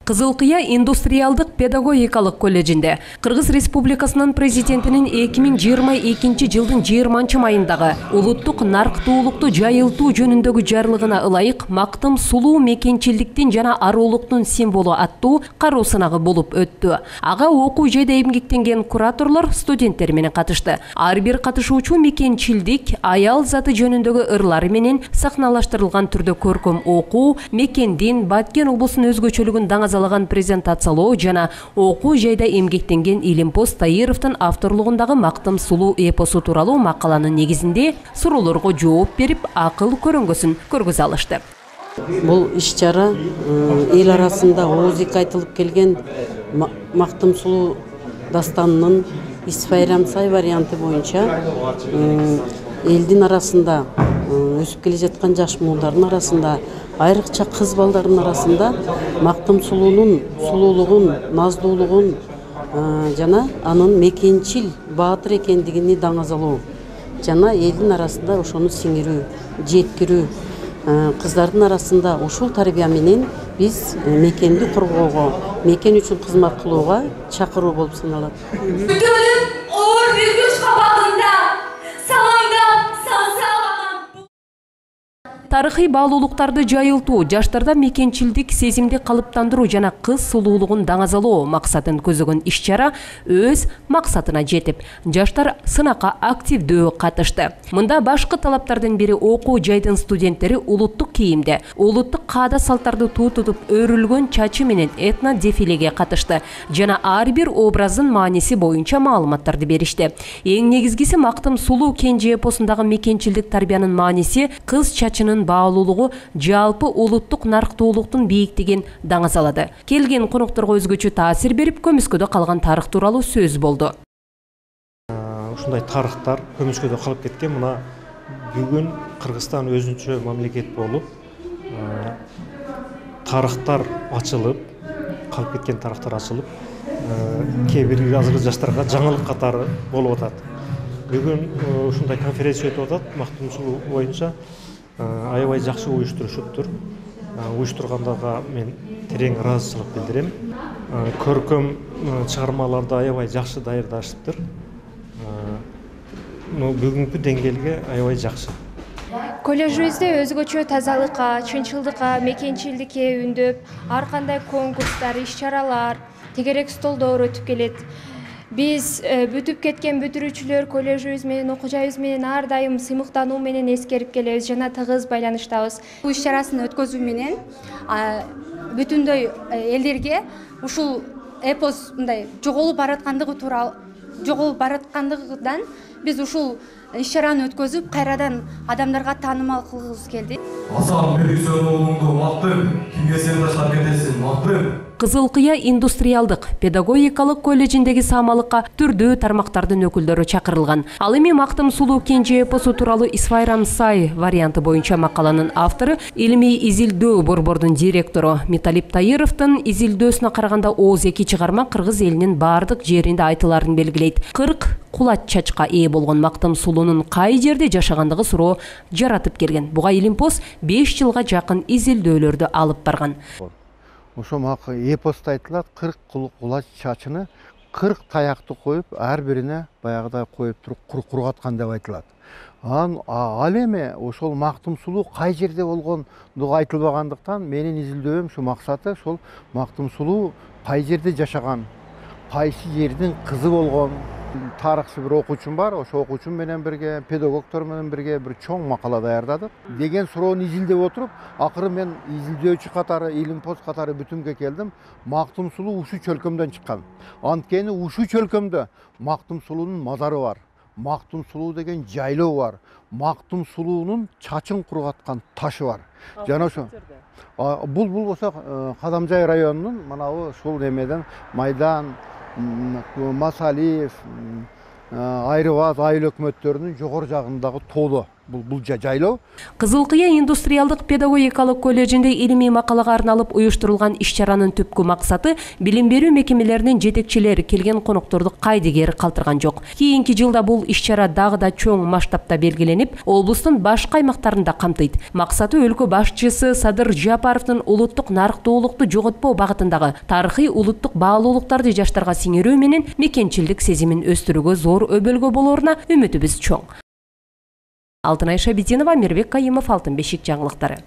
Кызылкыя индустриалдык педагогикалык колледжинде Кыргыз Республикасынын президентинин 2022 жылдын 20 майындагы улуттук нарктуулукту жайылтуу жөнүндөгү жарлыгына ылайык мактым сулуу мекенчилдиктин жана аруулуктун символу аттуу кароо сынагы болуп өттү. Ага окуу жайда эмгектенген кураторлор студенттер менен катышты. Ар бир катышуучу мекенчилдик, аял заты жөнүндөгү ырлары менен сахналаштырылган түрдө көркөм окуу, мекендин, Баткен облусунун өзгөчөлүгүн даңазалаган презентациялоо жана окуу жайда эмгектенген Илимпоз Таировдун авторлугундагы мактым сулуу эпосу тууралуу макаланын негизинде суроолорго жооп берип, акыл көрөңгөсүн көргөзө алышты. Бул иш-чара эл арасында оозик айтылып келген мактым сулуу дастанынын Исфайрам Сай варианты боюнча элдин арасында өсүп келе жаткан жаш муудардын арасында, айрыкча кыз балдардын арасында мактым сулуунун сулуулугун, наздуулугун жана анын мекенчил баатыр экендигини даңазалоо жана элдин арасында ошону сиңирүү, жеткирүү, кыздардын арасында ушул тарбия менен биз мекенди коргоого, мекен үчүн кызмат кылууга чакыруу болуп саналат. Тарыхый баалуулуктарды жайылтуу, жаштарда мекенчилдик сезимди калыптандыруу жана кыз сулуулугун даңазалоо максатын көзөгөн иш-чара өз максатына жетип, жаштар сынакка активдүү катышты. Мында башкы талаптардын бири окуу жайдын студенттери улуттук кийимде, улуттук каада салттарды тутуп өрүлгөн чачы менен этно дефилеге катышты жана ар бир образдын мааниси боюнча маалыматтарды беришти. Эң негизгиси мактым сулуу кенже эпосундагы мекенчилдик тарбиянын мааниси кыз чачынын баалуулугу жалпы улуттук нарктуулуктун бийиктигин даңазалады. Келген конокторго өзгөчө таасир берип, көмүскөдө калган тарых тууралуу сөз болду. Ушундай тарыхтар көмүскөдө калып кеткен. Мына бүгүн Кыргызстан өзүнчө мамлекет болуп, тарыхтар ачылып, калып кеткен тарыхтар ачылып, кээ бир азыркы жаштарга жаңылык катары болуп атат. Бүгүн ушундай конференция өтүп атат, мактым сулуу боюнча. Аябай жакшы уюштурушуптур. Уюштургандарға мен терең ыраазычылык билдирем. Көркөм чыгармаларды аябай жакшы даярдашыптыр. Бүгүнкү деңгээлге аябай жакшы. Колледжибизде өзгөчө тазалыкка, чынчылдыкка, мекенчилдикке үндөп, ар кандай конкурстар, иш-чаралар, тегерек столдор өтүп келет. Биз бүтүп кеткен бүтүрүүчүлөр колледжибиз менен, окуу жайыбыз менен ар дайым сыймыктануу менен эскерип келебиз жана тыгыз байланыштабыз. Бул иш-чарасын өткөзүү менен бүтүндөй элдерге ушул эпос мындай жоголуп бараткандыгынан биз ушул иш-чараны өткөзүп, кайрадан адамдарга таанымал кылгыбыз келди. Асан Меликсон уулуңду мактым, кимге сен таштап кетесиң, мактым. Кызылкыя индустриалдык педагогикалык колледжиндеги саамалыкка түрдүү тармактардын өкүлдөрү чакырылган. Ал эми мактым сулуу кенже эпосу тууралуу Исфайрам Сай варианты боюнча макаланын автору, илимий изилдөө борбордун директору Металип Таировдун изилдөөсүнө караганда ооз эки чыгарма кыргыз элинин бардык жеринде айтыларын белгилейт. 40 кулач чачка ээ болгон мактым сулуунун кай жерде жашагандыгы суроо жаратып келген. Буга Илимпоз 5 жылга жакын изилдөөлөрдү алып барган. Ошо эпоста айтылат, 40 кулач чачыны 40 таякты коюп, ар бирине баягыдай коюп туруп кургаткан деп айтылат. Ал эми ошол мактым сулуу кай жерде болгондугу айтылбагандыктан менин изилдөөм ушу максаты ошол мактым сулуу кай жерде жашаган, кайсы жердин кызы болгон. Тарыхчы бир окуучум бар, ошо окуучум менен бирге, педагогтор менен бирге бир чоң макала даярдадык. Деген суроону изилдеп отуруп, акыры мен изилдөөчү катары, Илимпоз катары бүтүмгө келдим. Мактым сулуу ушул чөлкөмдөн чыккан. Анткени ушул чөлкөмдө мактым сулуунун мазары бар. Мактым сулуу деген жайлоо бар. Мактым сулуунун чачын кургаткан ташы бар. Жана ошо бул болсо Кадамжай районунун манабы ушул эмеден Майдан, Масалиев, Айрыбас айыл өкмөттөрүнүн жогору жагындагы тоолу. бул жайлоо. Кызыл Кыя индустриалдык педагогикалык колледжинде илимий макалага арналып уюштурулган иш-чаранын түпкү максаты билим берүү мекемелеринин жетекчилери келген конокторду кайдыгер калтырган жок. Кийинки жылда бул иш-чара дагы да чоң масштабта белгиленип, облустун башка аймактарында камтыйт. Максаты өлкө башчысы Садыр Жапаровдун улуттук нарктуулукту жоготпоо багытындагы тарыхый улуттук баалуулуктарды жаштарга сиңирүү менен мекенчилдик сезимин өстүрүүгө зор өбөлгө болоруна үмүтүбүз чоң. Алтынай Шабитинова, Мирбек Кайымов, Алтын бешик жаңылыктары.